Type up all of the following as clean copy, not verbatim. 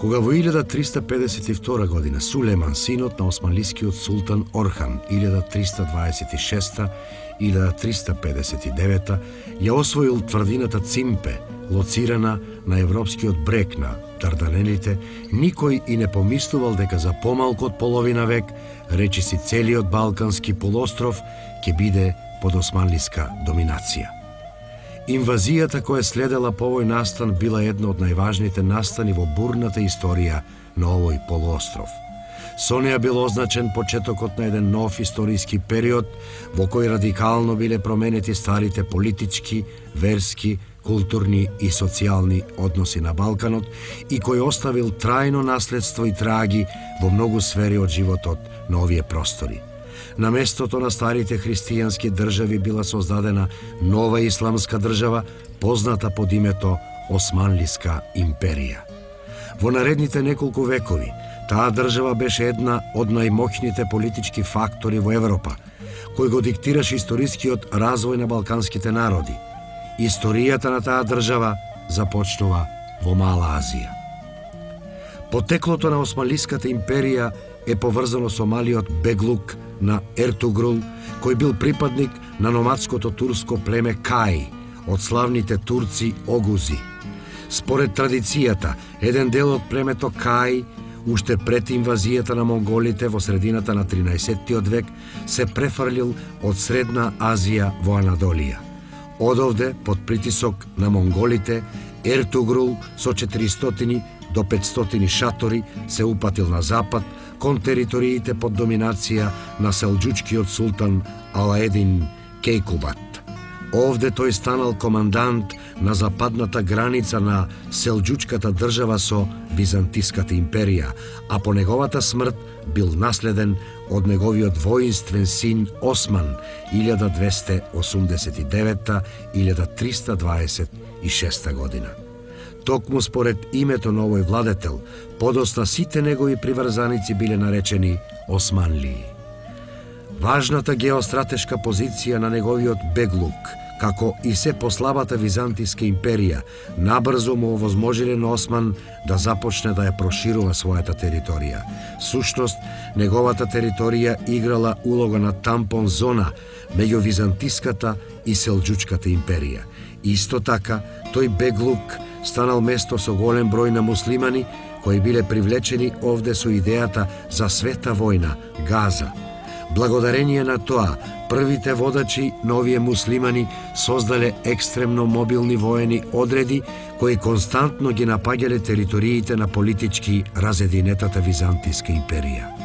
Кога во 1352 година Сулеман, синот на османлискиот султан Орхан, 1326-1359, ја освоил тврдината Цимпе, лоцирана на европскиот брег на Дарданелите, никој и не помислувал дека за помалку од половина век, речиси целиот Балкански полуостров ќе биде под османлиска доминација. Инвазијата која следела по овој настан била една од најважните настани во бурната историја на овој полуостров. Со неја бил означен почетокот на еден нов историски период во кој радикално биле променети старите политички, верски, културни и социјални односи на Балканот и кој оставил трајно наследство и траги во многу сфери од животот на овие простори. На местото на старите христијански држави била создадена нова исламска држава, позната под името Османлиска империја. Во наредните неколку векови, таа држава беше една од најмоќните политички фактори во Европа, кој го диктираше историскиот развој на балканските народи. Историјата на таа држава започнува во Мала Азија. Потеклото на Османлиската империја е поврзано со малиот беглук на Ертугрул, кој бил припадник на номадското турско племе Кај, од славните турци Огузи. Според традицијата, еден дел од племето Кај, уште пред инвазијата на монголите во средината на 13-тиот век, се префрлил од Средна Азија во Анадолија. Одовде, под притисок на монголите, Ертугрул со 400 до 500 шатори се упатил на запад, кон териториите под доминација на селџуčкиот султан Алаедин Кейкубат. Овде тој станал командант на западната граница на селџучката држава со Византиската империја, а по неговата смрт бил наследен од неговиот воинствен син Осман 1289-1326 година. Токму според името на овој владетел, подосна сите негови приврзаници биле наречени Османлии. Важната геостратешка позиција на неговиот беглук, како и се послабата Византиска империја, набрзо му овозможиле на Осман да започне да ја проширува својата територија. Сушност, неговата територија играла улога на тампон зона меѓу Византиската и Селџучката империја. Исто така, тој беглук станал место со голем број на муслимани кои биле привлечени овде со идејата за света војна, Газа. Благодарение на тоа, првите водачи на овие муслимани создале екстремно мобилни воени одреди кои константно ги напаѓале териториите на политички разединетата Византиска империја.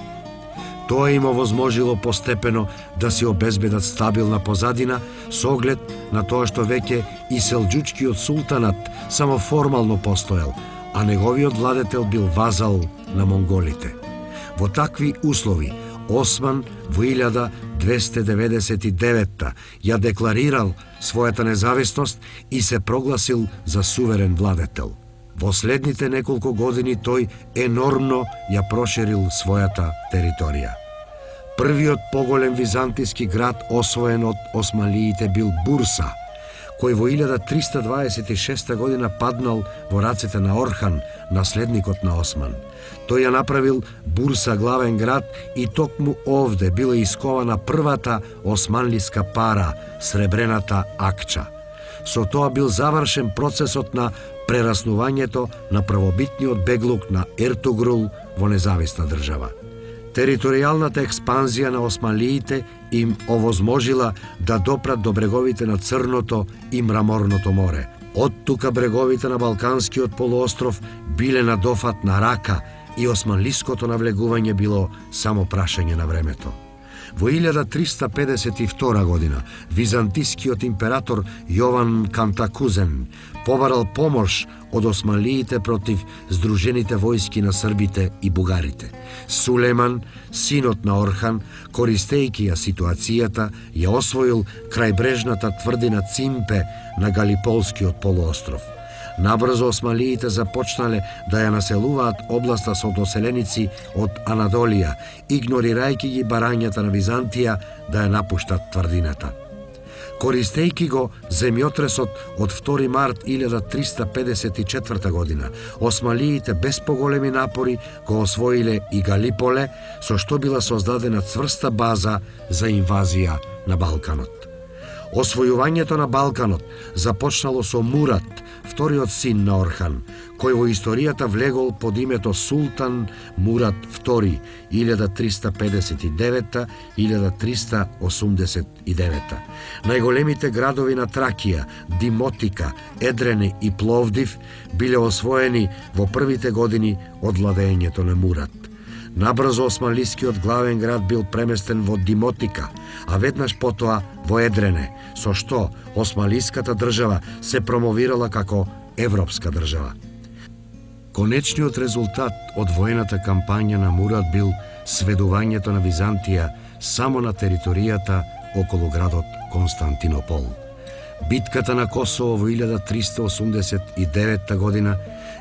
Тоа им овозможило постепено да се обезбедат стабилна позадина со оглед на тоа што веќе и селџучкиот султанат само формално постоел, а неговиот владетел бил вазал на монголите. Во такви услови, Осман во 1299 ја декларирал својата независност и се прогласил за суверен владетел. Во следните неколку години тој енормно ја проширил својата територија. Првиот поголем византиски град освоен од османлиите бил Бурса, кој во 1326 година паднал во рацете на Орхан, наследникот на Осман. Тој ја направил Бурса главен град и токму овде била искована првата османлиска пара, сребрената акча. Со тоа бил завршен процесот на прераснувањето на првобитниот беглук на Ертугрул во независна држава. Територијалната експанзија на османлиите им овозможила да допрат до бреговите на Црното и Мраморното море. Од тука бреговите на Балканскиот полуостров биле на дофат на рака и османлиското навлегување било само прашање на времето. Во 1352 година византискиот император Јован Кантакузен побарал помош од османлиите против здружените војски на србите и бугарите. Сулеман, синот на Орхан, користејќи ја ситуацијата, ја освоил крајбрежната тврдина Цимпе на Галиполскиот полуостров. Набрзо османлиите започнале да ја населуваат областа со доселеници од Анадолија, игнорирајќи ги барањата на Византија да ја напуштат тврдината. Користејќи го земјотресот од 2 март 1354 година, османлиите без поголеми напори го освоиле и Галиполе, со што била создадена цврста база за инвазија на Балканот. Освојувањето на Балканот започнало со Мурат, вториот син на Орхан, кој во историјата влегол под името Султан Мурат II 1359-1389. Најголемите градови на Тракија, Димотика, Едрене и Пловдив биле освоени во првите години од владеењето на Мурат. Набрзо османлискиот главен град бил преместен во Димотика, а веднаш потоа во Едрене, со што османлиската држава се промовирала како европска држава. Конечниот резултат од воената кампања на Мурат бил сведувањето на Византија само на територијата околу градот Константинопол. Битката на Косово во 1389 година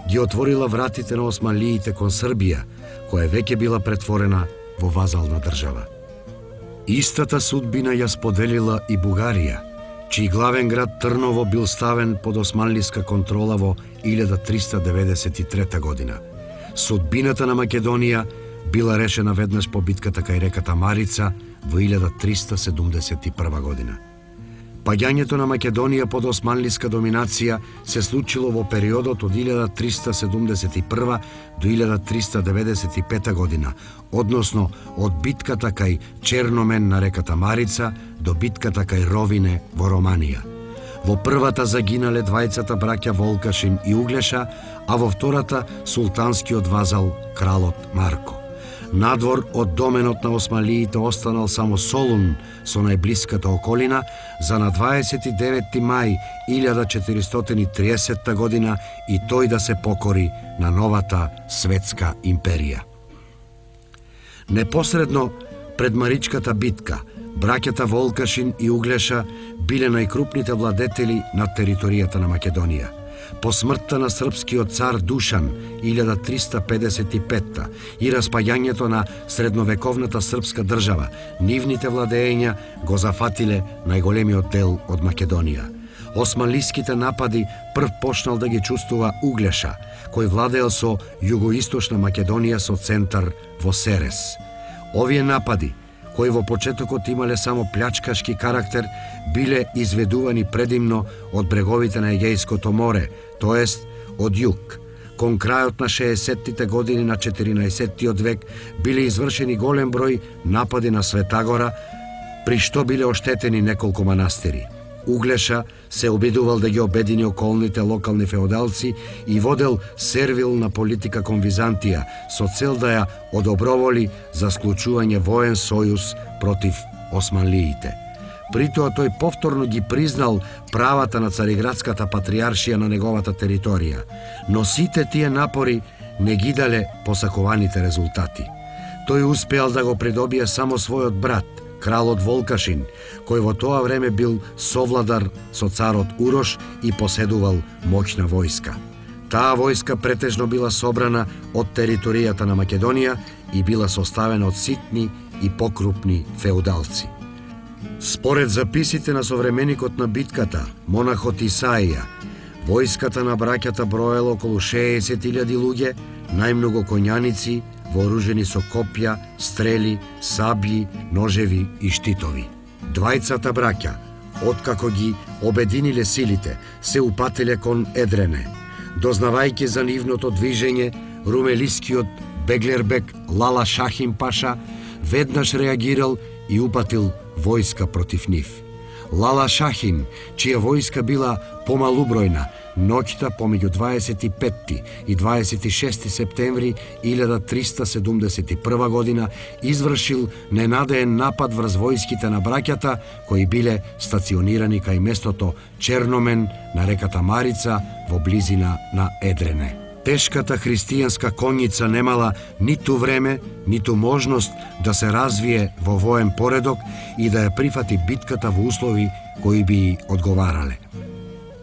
ги отворила вратите на османлиите кон Србија, која веќе била претворена во вазална држава. Истата судбина ја споделила и Бугарија, чиј главен град Трново бил ставен под османлиска контрола во 1393 година. Судбината на Македонија била решена веднаш по битката кај реката Марица во 1371 година. Паѓањето на Македонија под османлиска доминација се случило во периодот од 1371 до 1395 година, односно од битката кај Черномен на реката Марица до битката кај Ровине во Романија. Во првата загинале двајцата браќа Волкашин и Углеша, а во втората султанскиот вазал кралот Марко. Надвор од доменот на османлиите останал само Солун со најблиската околина за на 29 мај 1430 година и тој да се покори на новата светска империја. Непосредно пред Маричката битка, браќата Волкашин и Углеша биле најкрупните владетели на територијата на Македонија. По смртта на српскиот цар Душан 1355 и распаѓањето на средновековната српска држава, нивните владења го зафатиле најголемиот дел од Македонија. Османлиските напади прв почнал да ги чувствува Углеша, кој владеел со југоисточна Македонија со центар во Серес. Овие напади, кои во почетокот имале само плячкашки карактер, биле изведувани предимно од бреговите на Егејското море, тоест од југ. Кон крајот на 60-тите години на 14-тиот век биле извршени голем број напади на Светагора, при што биле оштетени неколку манастири. Углеша се обидувал да ги обедини околните локални феодалци и водел сервилна политика кон Византија со цел да ја одоброволи за склучување воен сојуз против османлиите. При тоа тој повторно ги признал правата на Цариградската патриаршија на неговата територија, но сите тие напори не ги дале посакуваните резултати. Тој успеал да го придобие само својот брат, кралот Волкашин, кој во тоа време бил совладар со царот Урош и поседувал моќна војска. Таа војска претежно била собрана од територијата на Македонија и била составена од ситни и покрупни феудалци. Според записите на современикот на битката, монахот Исаија, војската на браќата броела околу 60.000 луѓе, најмногу коњаници, вооружени со копја, стрели, саблји, ножеви и штитови. Двајцата браќа, откако ги обединиле силите, се упателе кон Едрене. Дознавајќи за нивното движење, румелискиот Беглербек Лала Шахим Паша веднаш реагирал и упатил војска против нив. Лала Шахин, чија војска била помалубројна, ноќта помеѓу 25 и 26 септември 1371 година извршил ненадеен напад врз војските на браќата кои биле стационирани кај местото Черномен на реката Марица во близина на Едрене. Тешката христијанска конница немала ниту време, ниту можност да се развие во воен поредок и да ја прифати битката во услови кои би одговарале.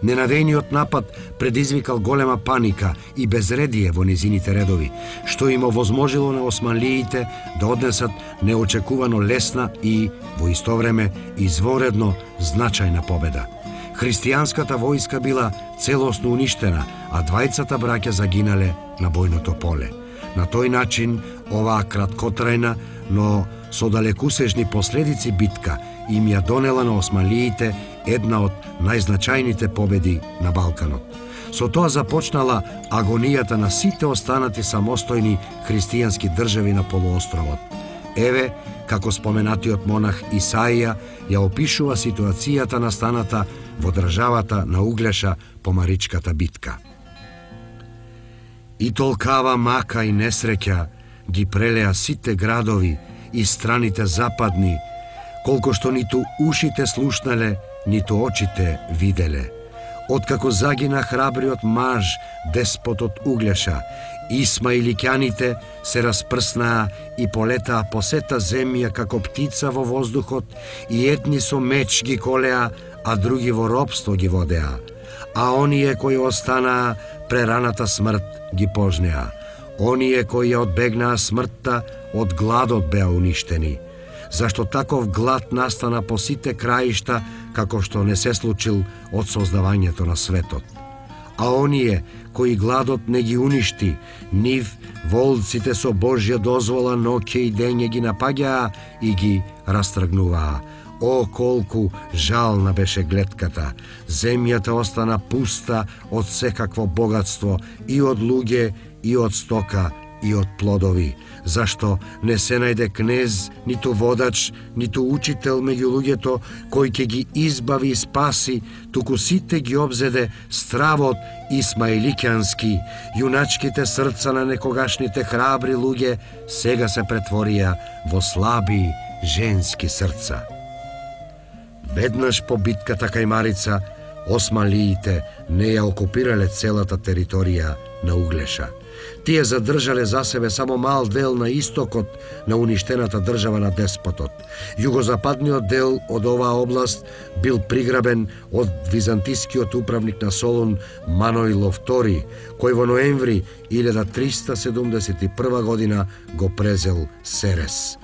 Ненадејниот напад предизвикал голема паника и безредие во низините редови, што им овозможило на османлиите да однесат неочекувано лесна и, во исто време, изворедно значајна победа. Христијанската војска била целосно уништена, а двајцата браќа загинале на бојното поле. На тој начин, оваа краткотрајна, но со далекусежни последици битка им ја донела на османлиите една од најзначајните победи на Балканот. Со тоа започнала агонијата на сите останати самостојни христијански држави на полуостровот. Еве, како споменатиот монах Исаија ја опишува ситуацијата настаната во државата на Углеша по Маричката битка. И толкава мака и несреќа ги прелеа сите градови и страните западни, колку што ниту ушите слушнале, ниту очите виделе. Откако загина храбриот маж, деспотот Углеша, исмаиликјаните се распрснаа и полетаа по сета земја како птица во воздухот, и едни со меч ги колеа, а други во робство ги водеа. А оние кои останаа, прераната смрт ги пожнеа. Оние кои ја одбегнаа смртта, од гладот беа уништени. Зашто таков глад настана по сите краишта, како што не се случил од создавањето на светот. А оние кои гладот не ги уништи, нив волците со Божја дозвола ноќе и дење ги напаѓаа и ги растргнуваа. О, колку жална беше гледката! Земјата остана пуста од секакво богатство, и од луѓе, и од стока, и од плодови. Зашто не се најде кнез, ниту водач, ниту учител меѓу луѓето, кој ќе ги избави и спаси, туку сите ги обзеде стравот исмаиликјански. Јуначките срца на некогашните храбри луѓе сега се претворија во слаби женски срца. Веднаш по битката кај Марица, османлиите не ја окупирале целата територија на Углеша. Тие задржале за себе само мал дел на истокот на уништената држава на деспотот. Југозападниот дел од оваа област бил приграбен од византискиот управник на Солун Маноило II, кој во ноември 1371 година го презел Серес.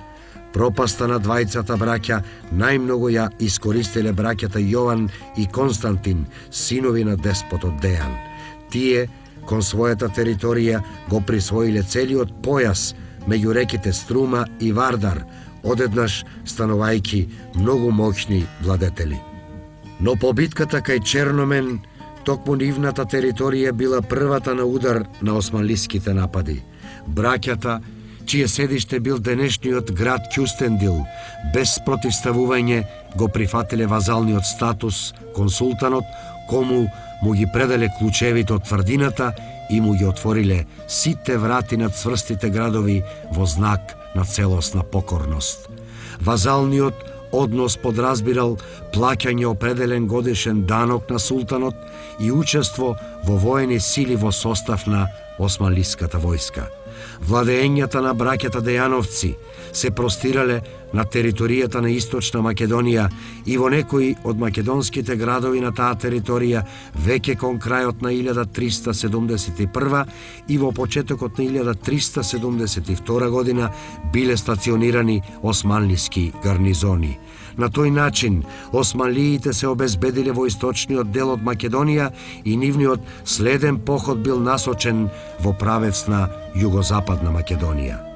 Пропаста на двајцата браќа најмногу ја искористиле браќата Јован и Константин, синови на деспотот Дејан. Тие кон својата територија го присвоиле целиот појас меѓу реките Струма и Вардар, одеднаш станувајќи многу моќни владетели. Но по битката кај Черномен, токму нивната територија била првата на удар на османлиските напади. Браќата, чие седиште бил денешниот град Кюстендил, без противставување го прифатиле вазалниот статус кон султанот, кому му ги пределе клучевите од тврдината и му ги отвориле сите врати на цврстите градови во знак на целосна покорност. Вазалниот однос подразбирал плаќање определен годишен данок на султанот и учество во воени сили во состав на османлиската војска. Владеењата на браќата Дејановци се простирале на територијата на Источна Македонија и во некои од македонските градови на таа територија веќе кон крајот на 1371 и во почетокот на 1372 година биле стационирани османлиски гарнизони. На тој начин, османлиите се обезбедиле во источниот дел од Македонија и нивниот следен поход бил насочен во правец на југозападна Македонија.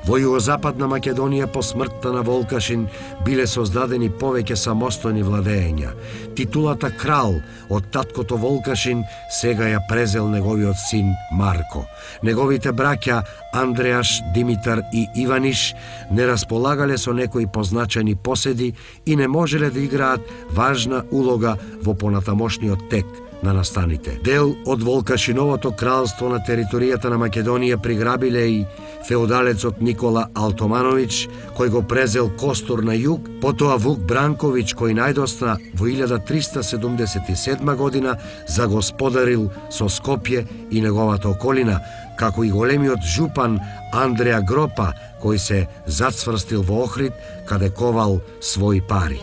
Во југозападна Македонија по смртта на Волкашин биле создадени повеќе самостојни владеења. Титулата крал од таткото Волкашин сега ја презел неговиот син Марко. Неговите браќа Андреаш, Димитар и Иваниш не располагале со некои позначени поседи и не можеле да играат важна улога во понатамошниот тек на настаните. Дел од Волкашиновото кралство на територијата на Македонија приграбиле и феудалецот Никола Алтомановиќ, кој го презел Костур на југ, потоа Вук Бранковиќ, кој најдосна во 1377 година загосподарил со Скопје и неговата околина, како и големиот жупан Андреа Гропа, кој се зацврстил во Охрид, каде ковал своји пари.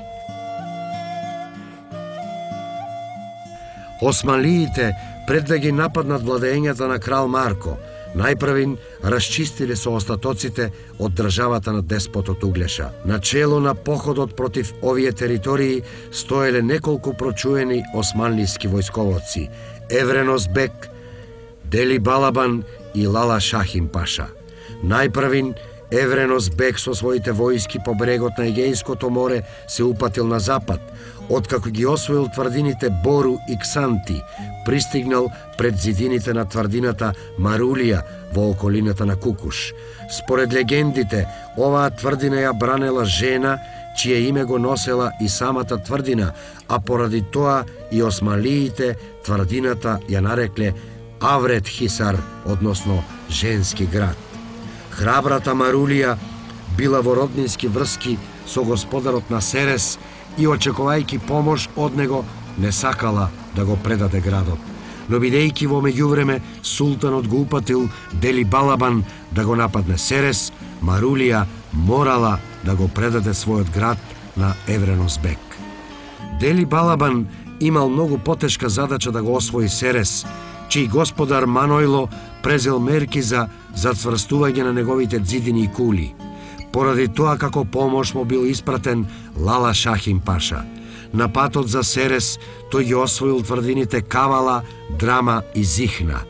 Османлиите, пред да ги нападнат владењата на крал Марко, најпрвин расчистиле со остатоците од државата на деспотот Углеша. Начело на походот против овие територии стоеле неколку прочуени османлиски војсковоци: Евренос бек, Дели Балабан и Лала Шахин паша. Најпрвин Евренос бек со своите војски по брегот на Егејското море се упатил на запад. Откако ги освоил тврдините Бору и Ксанти, пристигнал пред зидините на тврдината Марулија во околината на Кукуш. Според легендите, оваа тврдина ја бранела жена, чие име го носела и самата тврдина, а поради тоа и османлиите тврдината ја нарекле Аврет Хисар, односно женски град. Храбрата Марулија била во роднински врски со господарот на Серес и очекувајќи помош од него не сакала да го предаде градот. Но бидејќи во меѓувреме султанот го упатил Дели Балабан да го нападне Серес, Марулија морала да го предаде својот град на Евренос бек. Дели Балабан имал многу потешка задача да го освои Серес, чиј господар Манойло презел мерки за зацврстување на неговите ѕидини и кули. Поради тоа како помош му бил испратен Лала Шахин паша. На патот за Серес тој ги освоил тврдините Кавала, Драма и Зихна.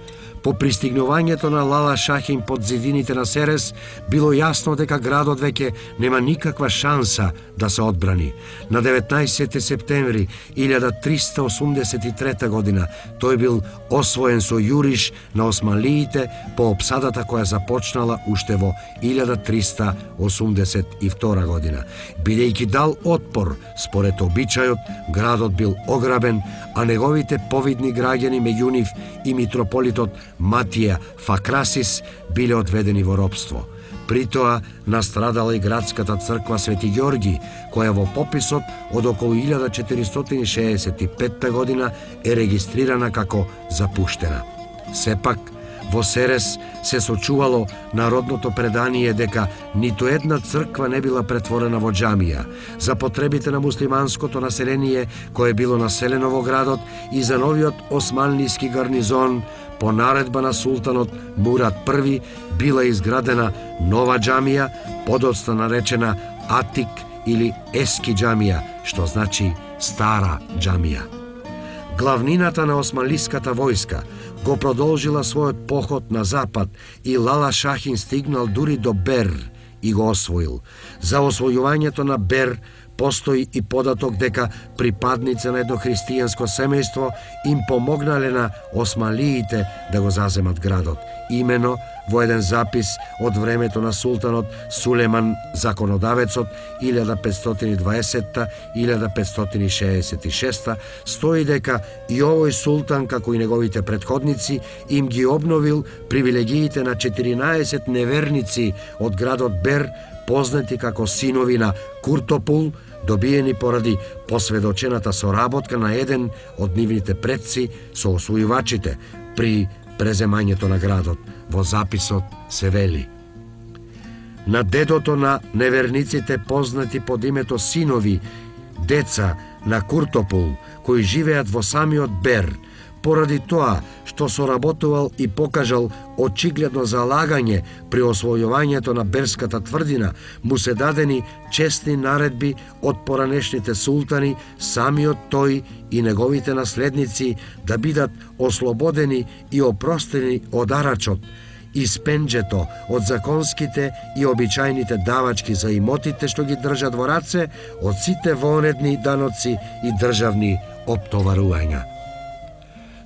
По пристигнувањето на Лала Шахин под зидините на Серес, било јасно дека градот веќе нема никаква шанса да се одбрани. На 19 септември 1383 година тој бил освоен со јуриш на османлиите по опсадата која започнала уште во 1382 година. Бидејќи дал отпор, според обичајот, градот бил ограбен, а неговите повидни граѓани, меѓу нив и митрополитот Матија Факрасис, биле одведени во робство. При тоа настрадала и градската црква Свети Ѓорги, која во пописот од околу 1465 година е регистрирана како запуштена. Сепак, во Серес се сочувало народното предание дека ниту една црква не била претворена во џамија. За потребите на муслиманското население кое било населено во градот и за новиот османлиски гарнизон, по наредба на султанот Мурад I била изградена нова џамија, подоцна наречена Атик или Ески џамија, што значи стара џамија. Главнината на османлиската војска го продолжила својот поход на запад и Лала Шахин стигнал дури до Бер и го освоил. За освојувањето на Бер постои и податок дека припадници на едно христијанско семејство им помогнале на османлиите да го заземат градот. Имено во еден запис од времето на султанот Сулеман Законодавецот 1520-1566 стои дека и овој султан, како и неговите претходници, им ги обновил привилегиите на 14 неверници од градот Бер, познати како синови на Куртопул, добиени поради посведочената соработка на еден од нивните предци со освојувачите при преземањето на градот. Во записот се вели: на дедото на неверниците, познати под името синови, деца на Куртопул, кои живеат во самиот Бер, поради тоа што соработувал и покажал очигледно залагање при освојувањето на Берската тврдина, му се дадени честни наредби од поранешните султани, самиот тој и неговите наследници да бидат ослободени и опростени од арачот, испенџето од законските и обичајните давачки за имотите што ги држат во раце, од сите вонедни даноци и државни оптоварувања.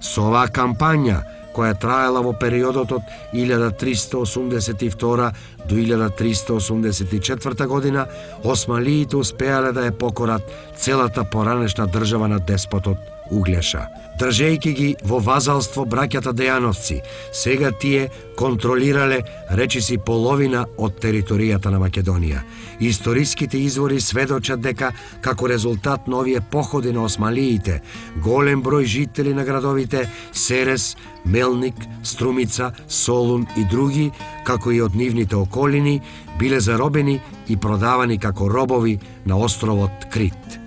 Со оваа кампања, која траела во периодот од 1382 до 1384 година, османлиите успеале да ја покорат целата поранешна држава на деспотот Углеша. Држејќи ги во вазалство браќата Дејановци, сега тие контролирале речиси половина од територијата на Македонија. Историските извори сведочат дека, како резултат на овие походи на османлиите, голем број жители на градовите Серес, Мелник, Струмица, Солун и други, како и од нивните околини, биле заробени и продавани како робови на островот Крит.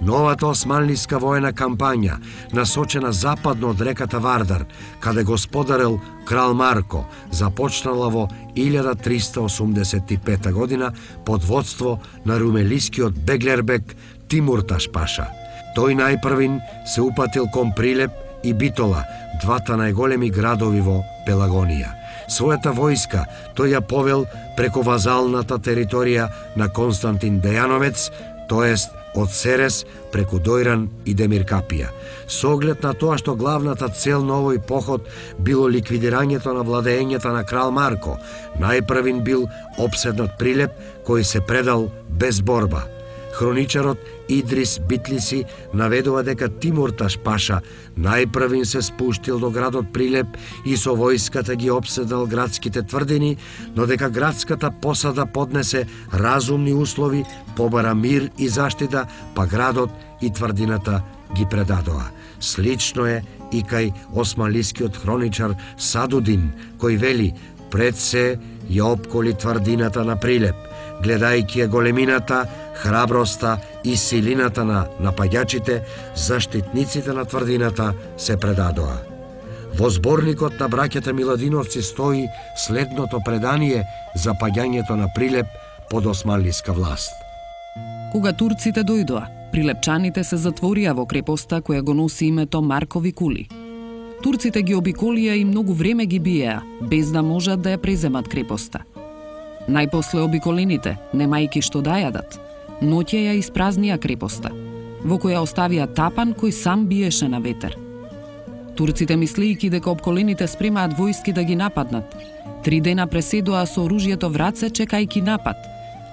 Новата османлиска воена кампања, насочена западно од реката Вардар, каде господарел крал Марко, започнала во 1385 година под водство на румелискиот беглербек Тимурташ паша. Тој најпрвин се упатил кон Прилеп и Битола, двата најголеми градови во Пелагонија. Својата војска тој ја повел преку вазалната територија на Константин Дејановец, тоест од Серес преку Дојран и Демиркапија. Со оглед на тоа што главната цел на овој поход било ликвидирањето на владеењето на крал Марко, најпрвин бил опседнат Прилеп, кој се предал без борба. Хроничарот Идрис Битлиси наведува дека Тимурташ паша најпрвин се спуштил до градот Прилеп и со војската ги опседнал градските тврдини, но дека градската посада поднесе разумни услови, побара мир и заштита, па градот и тврдината ги предадоа. Слично е и кај османлискиот хроничар Садудин, кој вели: пред се ја опколи тврдината на Прилеп, гледајќи ја големината, храброста и силината на напаѓачите, заштитниците на тврдината се предадоа. Во зборникот на браќата Миладиновци стои следното предание за паѓањето на Прилеп под османлиска власт. Кога турците дојдоа, прилепчаните се затворија во крепоста која го носи името Маркови кули. Турците ги обиколија и многу време ги биеа, без да можат да ја преземат крепоста. Најпосле обиколените, немајки што да јадат, ноќе ја испразнија крепоста, во која оставија тапан кој сам биеше на ветер. Турците, мислејќи дека обколените спремаат војски да ги нападнат, 3 дена преседоа со оружјето в раце чекајќи напад.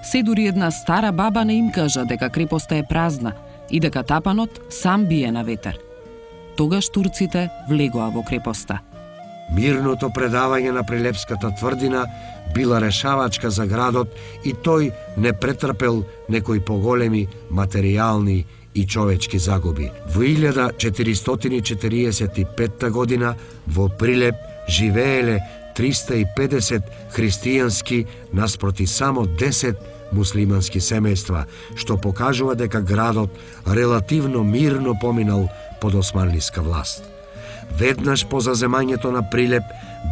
Се дури една стара баба не им кажа дека крепоста е празна и дека тапанот сам бие на ветер. Тогаш турците влегоа во крепоста. Мирното предавање на Прилепската тврдина била решавачка за градот и тој не претрпел некои поголеми материјални и човечки загуби. Во 1445 година во Прилеп живееле 350 христијански наспроти само 10 муслимански семејства, што покажува дека градот релативно мирно поминал под османлиска власт. Веднаш по заземањето на Прилеп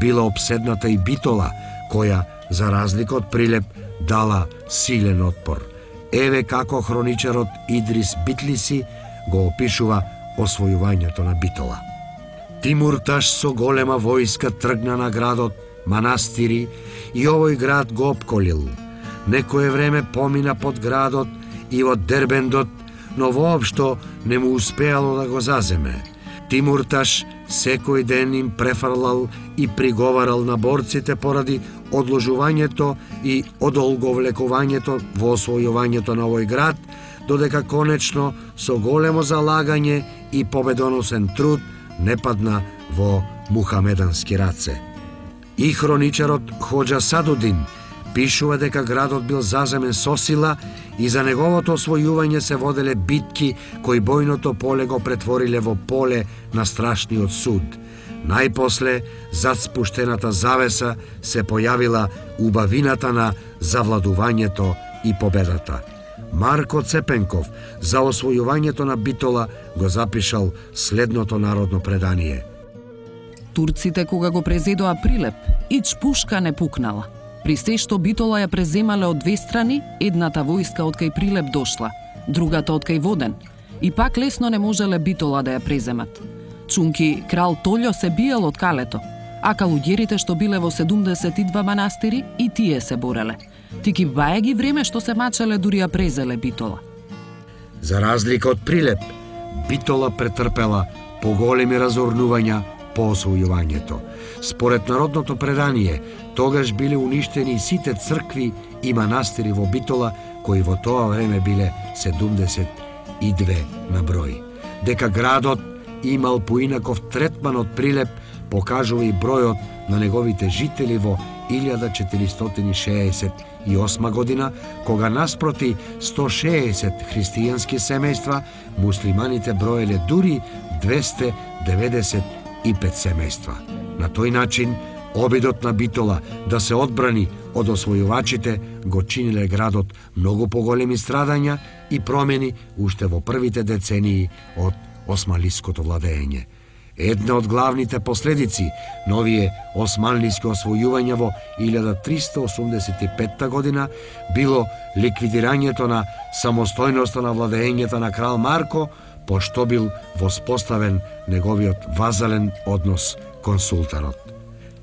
била обседната и Битола, која, за разлика од Прилеп, дала силен отпор. Еве како хроничарот Идрис Битлиси го опишува освојувањето на Битола. Тимурташ со голема војска тргна на градот, манастири и овој град го опколил. Некое време помина под градот и од Дербендот, но воопшто не му успеало да го заземе. Тимурташ секој ден им префрлал и приговарал на борците поради одложувањето и одолговлекувањето во освојувањето на овој град, додека конечно со големо залагање и победоносен труд не падна во мухамедански раце. И хроничарот Хоџа Садудин пишува дека градот бил заземен со сила и за неговото освојување се воделе битки кои бојното поле го претвориле во поле на страшниот суд. Најпосле, зад спуштената завеса, се појавила убавината на завладувањето и победата. Марко Цепенков за освојувањето на Битола го запишал следното народно предание. Турците кога го презедоа Прилеп, ич пушка не пукнала. При се што Битола ја преземале од две страни, едната војска од кај Прилеп дошла, другата од кај Воден, и пак лесно не можеле Битола да ја преземат. Чунки крал Толјо се биел од калето, а калуѓерите што биле во 72 манастири и тие се бореле. Тики баја ги време што се мачеле дури ја презеле Битола. За разлика од Прилеп, Битола претрпела поголеми разорнувања по освојувањето. Според народното предание, тогаш биле уништени сите цркви и манастири во Битола, кои во тоа време биле 72 на број. Дека градот имал поинаков третман од Прилеп, покажува и бројот на неговите жители во 1468 година, кога наспроти 160 христијански семејства, муслиманите броеле дури 295 семејства. На тој начин, обидот на Битола да се одбрани од освојувачите го чиниле градот многу поголеми страдања и промени уште во првите децении од османлиското владење. Една од главните последици на овие османлиски освојувања во 1385 година било ликвидирањето на самостојноста на владењето на крал Марко, пошто бил воспоставен неговиот вазален однос кон султанот.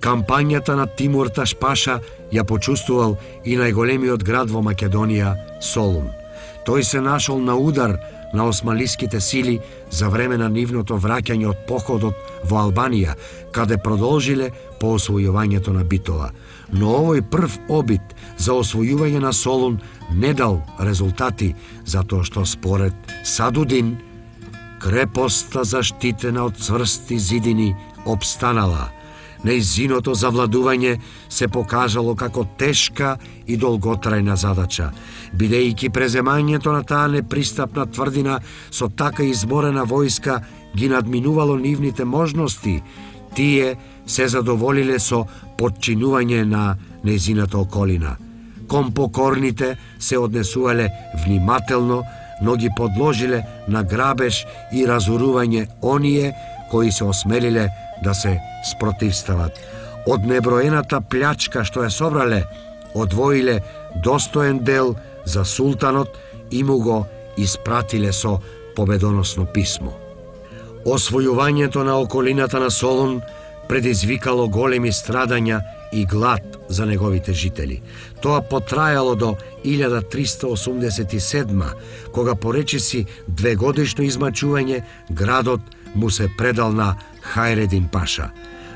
Кампањата на Тимур Таш Паша ја почувствувал и најголемиот град во Македонија, Солун. Тој се нашол на удар на османлиските сили за време на нивното враќање од походот во Албанија, каде продолжиле по освојувањето на Битола. Но овој прв обид за освојување на Солун не дал резултати, затоа што според Садудин, крепоста заштитена од цврсти зидини обстанала. Нејзиното завладување се покажало како тешка и долготрајна задача, бидејќи преземањето на таа непристапна тврдина со така изморена војска ги надминувало нивните можности, тие се задоволиле со подчинување на нејзината околина. Кон покорните се однесувале внимателно, но ги подложиле на грабеж и разорување оние кои се осмелиле да се спротивстават. Од неброената плячка што ја собрале, одвоиле достоен дел за султанот и му го испратиле со победоносно писмо. Освојувањето на околината на Солун предизвикало големи страдања и глад за неговите жители. Тоа потрајало до 1387, кога поречиси двегодишно измачување, градот му се предал на Хајредин Паша.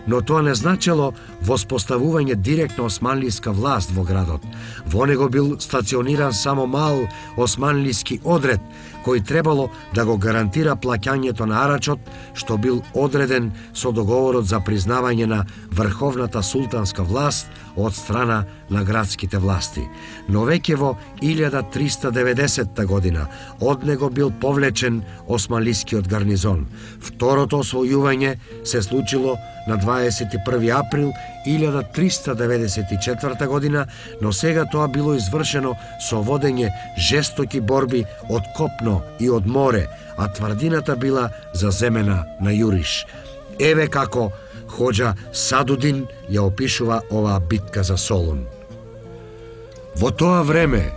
Но тоа не значело воспоставување директна османлиска власт во градот. Во него бил стациониран само мал османлиски одред, кој требало да го гарантира плаќањето на арачот, што бил одреден со договорот за признавање на врховната султанска власт од страна на градските власти. Но веќе во 1390 година од него бил повлечен османлискиот гарнизон. Второто освојување се случило на 21 април 1394 година, но сега тоа било извршено со водење жестоки борби од копно и од море, а тврдината била заземена на јуриш. Еве како Хоџа Садудин ја опишува оваа битка за Солун. Во тоа време,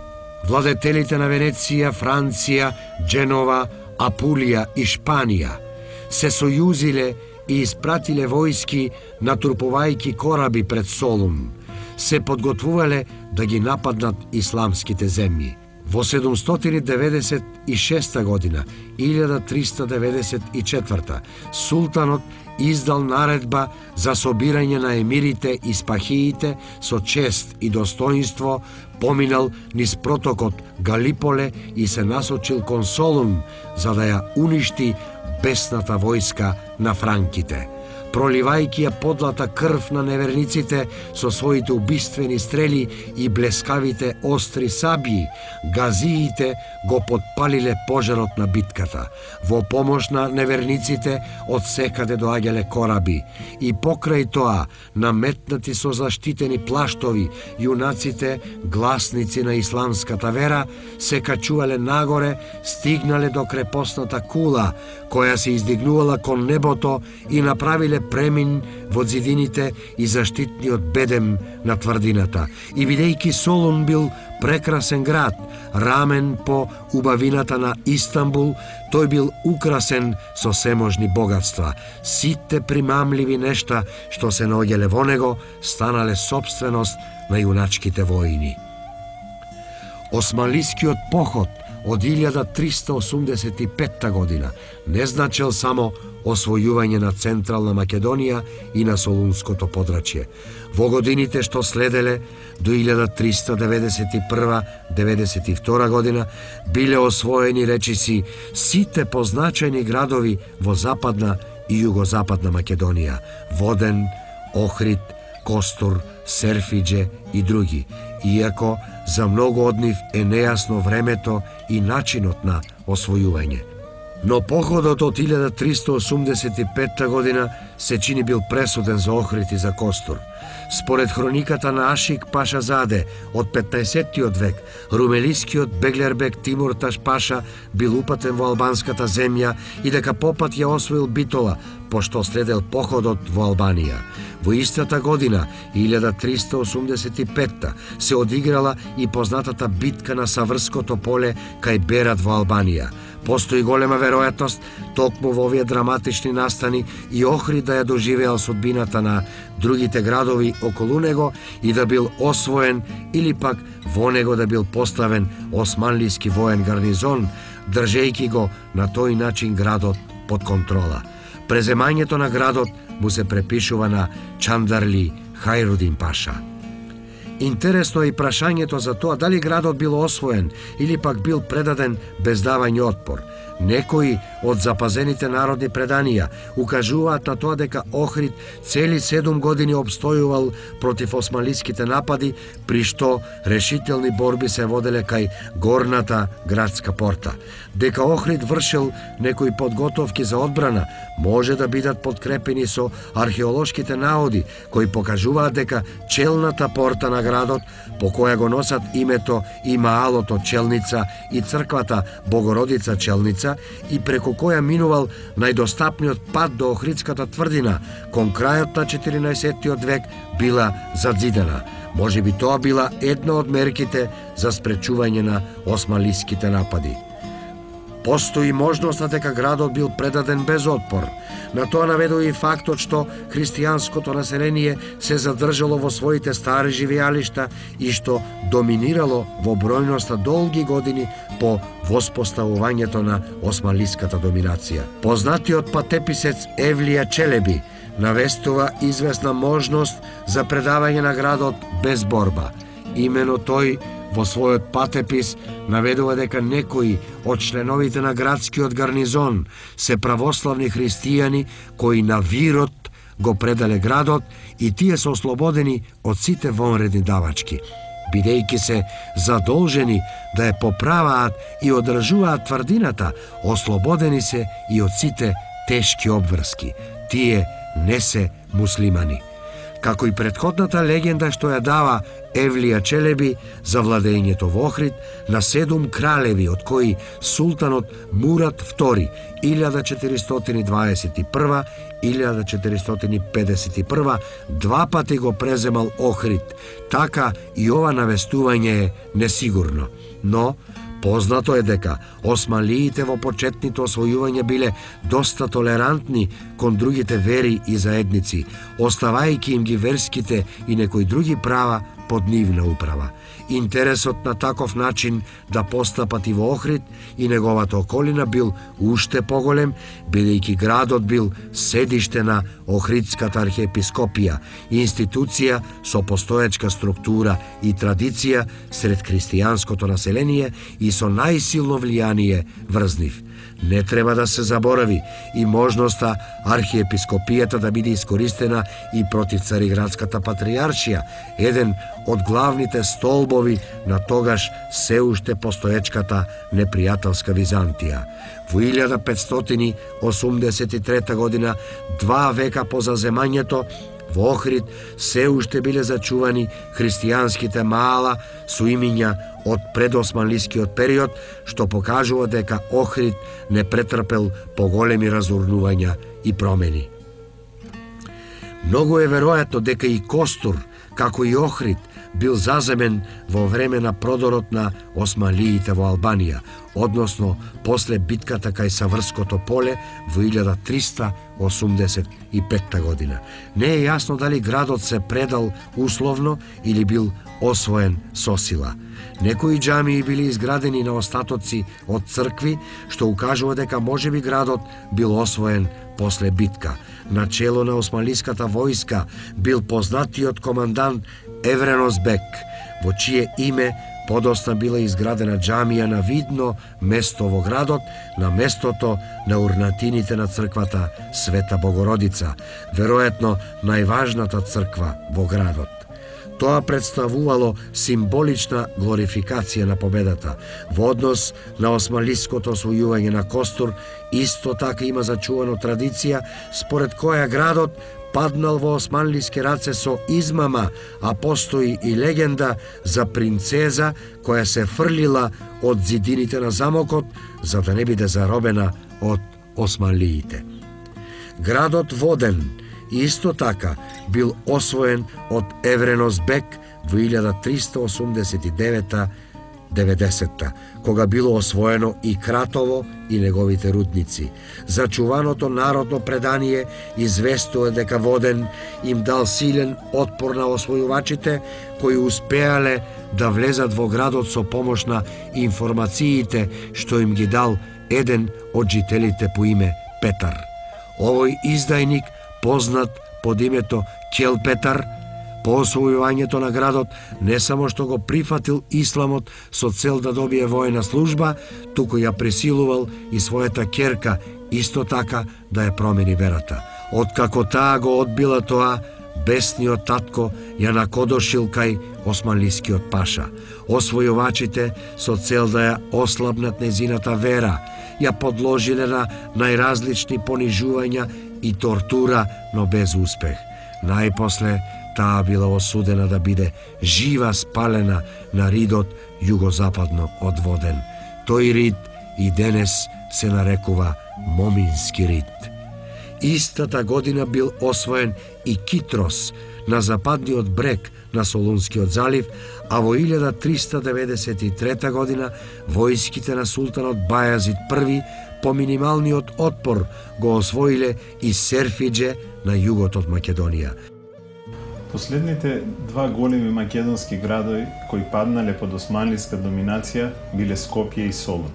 владетелите на Венеција, Франција, Дженова, Апулија и Шпанија се сојузиле и испратиле војски натрупувајќи кораби пред Солун. Се подготвувале да ги нападнат исламските земји. Во 796 година, 1394, султанот издал наредба за собирање на емирите и спахиите со чест и достоинство, поминал низ протокот Галиполе и се насочил кон Солун за да ја уништи бесната војска на франките. Проливајќи ја подлата крв на неверниците со своите убиствени стрели и блескавите остри сабји, газиите го подпалиле пожарот на битката. Во помош на неверниците од секаде доаѓале кораби и покрај тоа, наметнати со заштитени плаштови, јунаците, гласници на исламската вера, се качувале нагоре, стигнале до крепосната кула, која се издигнувала кон небото и направиле премин во зидините и заштитниот бедем на тврдината. И бидејќи Солун бил прекрасен град, рамен по убавината на Истанбул, тој бил украсен со seможни богатства. Сите примамливи нешта што се наоѓале во него станале собственост на јуначките војни. Османлискиот поход од 1385 година не значел само освојување на Централна Македонија и на Солунското подрачје. Во годините што следеле до 1391-92 година биле освоени речиси сите позначајни градови во Западна и Југозападна Македонија: Воден, Охрид, Костур, Серфиџе и други, иако за многу од нив е нејасно времето и начинот на освојување. Но походот од 1385 година се чини бил пресуден за Охрид и за Костур. Според хрониката на Ашик Паша Заде од 15-тиот век, румелискиот Беглербек Тимурташ Паша бил упатен во албанската земја и дека попат ја освоил Битола, пошто следел походот во Албанија. Во истата година, 1385, се одиграла и познатата битка на Саврското поле кај Берат во Албанија. Постои голема веројатност токму во овие драматични настани и Охрид да ја доживеал судбината на другите градови околу него и да бил освоен или пак во него да бил поставен османлиски воен гарнизон, држејќи го на тој начин градот под контрола. Преземањето на градот му се препишува на Чандарли Хајрудин Паша. Интересно е и прашањето за тоа дали градот бил освоен или пак бил предаден без давање отпор. Некои од запазените народни преданија укажуваат на тоа дека Охрид цели 7 години обстојувал против османлиските напади, при што решителни борби се воделе кај горната градска порта. Дека Охрид вршил некои подготовки за одбрана може да бидат подкрепени со археолошките наоди кои покажуваат дека челната порта на градот, по која го носат името и маалото Челница и црквата Богородица Челница, и преку која минувал најдостапниот пат до Охридската тврдина, кон крајот на 14-тиот век била задзидена. Може би тоа била една од мерките за спречување на османлиските напади. Постои можноста дека градот бил предаден без отпор. На тоа наведува и фактот што христијанското население се задржало во своите стари живеалишта и што доминирало во бројноста долги години по воспоставувањето на османлиската доминација. Познатиот патеписец Евлија Челеби навестува известна можност за предавање на градот без борба. Имено тој во својот патепис наведува дека некои од членовите на градскиот гарнизон се православни христијани кои на вирот го предале градот и тие се ослободени од сите вонредни давачки. Бидејќи се задолжени да ја поправаат и одржуваат тврдината, ослободени се и од сите тешки обврски. Тие не се муслимани. Како и претходната легенда што ја дава Евлија Челеби за владењето во Охрид на 7 кралеви, од кои султанот Мурат II 1421-1451 два пати го преземал Охрид. Така и ова навестување е несигурно. Но познато е дека османлиите во почетните освојувања биле доста толерантни кон другите вери и заедници, оставајќи им ги верските и некои други права под нивна управа. Интересот на таков начин да постапат и во Охрид и неговата околина бил уште поголем, бидејќи градот бил седиште на Охридската архиепископија, институција со постоечка структура и традиција сред христијанското население и со најсилно влијание врз нив. Не треба да се заборави и можноста архиепископијата да биде искористена и против Цариградската патријаршија, еден од главните столбови на тогаш се уште постоечката непријателска Византија. Во 1583 година, 2 века по заземањето, во Охрид се уште биле зачувани христијанските маала со имиња од предосманлискиот период, што покажува дека Охрид не претрпел поголеми разурнувања и промени. Многу е веројатно дека и Костур, како и Охрид, бил заземен во време на продорот на османлиите во Албанија, односно после битката кај Саврското поле во 1385 година. Не е јасно дали градот се предал условно или бил освоен со сила. Некои џамии били изградени на остатоци од цркви, што укажува дека можеби градот бил освоен после битка. Начело на османлиската војска бил познатиот командант Евренос Бек, во чие име подосна била изградена џамија на видно место во градот, на местото на урнатините на црквата Света Богородица, веројатно најважната црква во градот. Тоа представувало символична глорификација на победата. Во однос на османлиското освојување на Костур, исто така има зачувано традиција според која градот паднал во османлиски раце со измама, а постои и легенда за принцеза која се фрлила од зидините на замокот за да не биде заробена од османлиите. Градот Воден исто така бил освоен од Евренос Бек во 1389-90, кога било освоено и Кратово и неговите рудници. Зачуваното народно предание известува дека Воден им дал силен отпор на освојувачите, кои успеале да влезат во градот со помош на информациите што им ги дал еден од жителите по име Петар. Овој издајник, познат под името Келпетар, по освојувањето на градот не само што го прифатил исламот со цел да добие војна служба, туку ја пресилувал и својата ќерка исто така да ја промени верата. Откако таа го одбила тоа, бесниот татко ја накодошил кај османлискиот паша. Освојувачите со цел да ја ослабнат незината вера, ја подложиле на најразлични понижувања и тортура, но без успех. Најпосле таа била осудена да биде жива спалена на ридот југозападно од Воден. Тој рид и денес се нарекува Момински рид. Истата година бил освоен и Китрос на западниот брег на Солунскиот залив, а во 1393 година војските на султанот Бајазид I по минималниот отпор го освоиле и Серфидже на југот од Македонија. Последните два големи македонски градови кои паднале под османлиска доминација биле Скопје и Солун.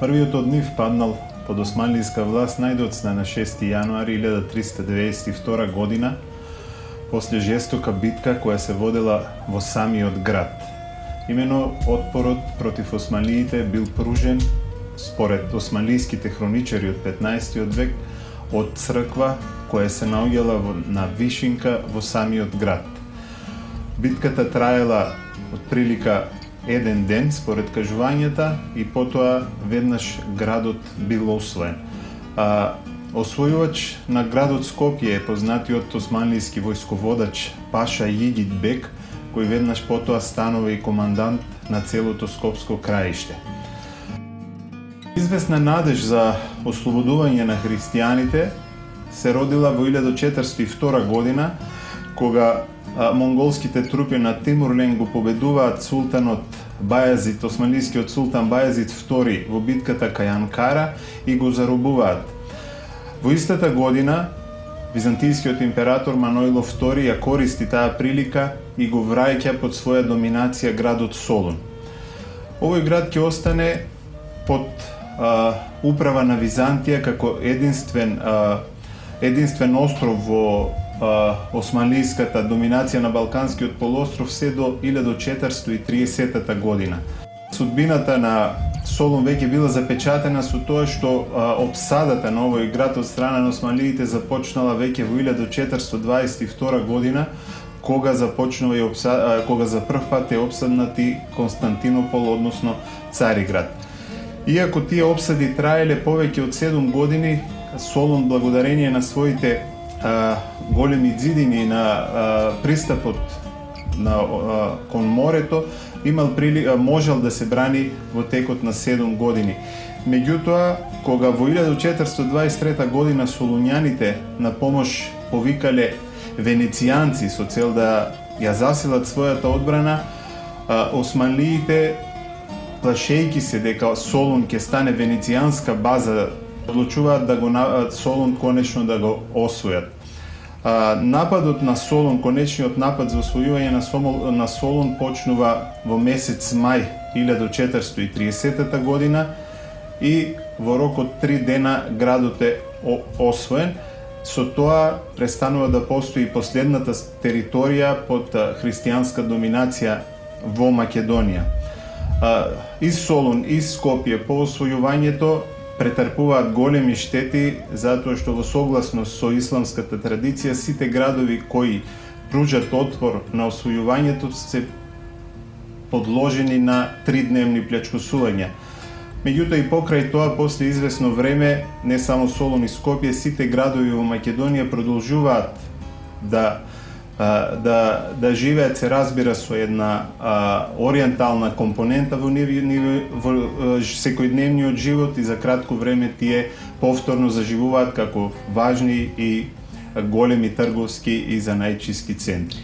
Првиот од нив паднал под османлиска власт најдоцна на 6 јануари 1392 година, после жестока битка која се водела во самиот град. Имено отпорот против османлиите бил пружен, според османлиските хроничари од 15 век, од црква која се наоѓала на вишинка во самиот град. Битката траела отприлика еден ден според кажувањата и потоа веднаш градот бил освоен. Освојувач на градот Скопје е познатиот османлиски војсководач Паша Јигит Бек, кој веднаш потоа станува и командант на целото Скопско краиште. Известна надеж за ослободување на христијаните се родила во 1402 година, кога монголските трупи на Тимурлен го победуваат султанот Бајазид, османлискиот султан Бајазид II во битката кај Анкара и го заробуваат. Во истата година византијскиот император Маноило II ја користи таа прилика и го враќа под своја доминација градот Солун. Овој град ќе остане под управа на Византија како единствен остров во османлиската доминација на Балканскиот полуостров се до 1430 година. Судбината на Солун веќе била запечатена со тоа што опсадата на овој град од страна на османлиите започнала веќе во 1422 година, кога започнува и кога за прв пат е опсаднати Константинопол, односно Цариград. Иако тие опсади траеле повеќе од 7 години, Солун, благодарение на своите големи ѕидини на пристапот кон морето, можел да се брани во текот на 7 години. Меѓутоа, кога во 1423 година солуњаните на помош повикале венецијанци со цел да ја засилат својата одбрана, османлиите, плашејќи се дека Солун ќе стане венецијанска база, одлучуваат да го Солун конечно да го освојат. Нападот на Солун, конечниот напад за освојување на Солун почнува во месец мај 1430 година и во рок од 3 дена градот е освоен. Со тоа престанува да постои последната територија под христијанска доминација во Македонија. Из Солун, из Скопје по освојувањето претрпуваат големи штети, затоа што во согласност со исламската традиција сите градови кои пружат отпор на освојувањето, се подложени на 3-дневни плячкосувања. Меѓутоа и покрај тоа, после известно време, не само Солун и Скопје, сите градови во Македонија продолжуваат да живеат, се разбира, со една ориентална компонента во секојдневниот живот, и за кратко време тие повторно заживуваат како важни и големи трговски и занајчиски центри.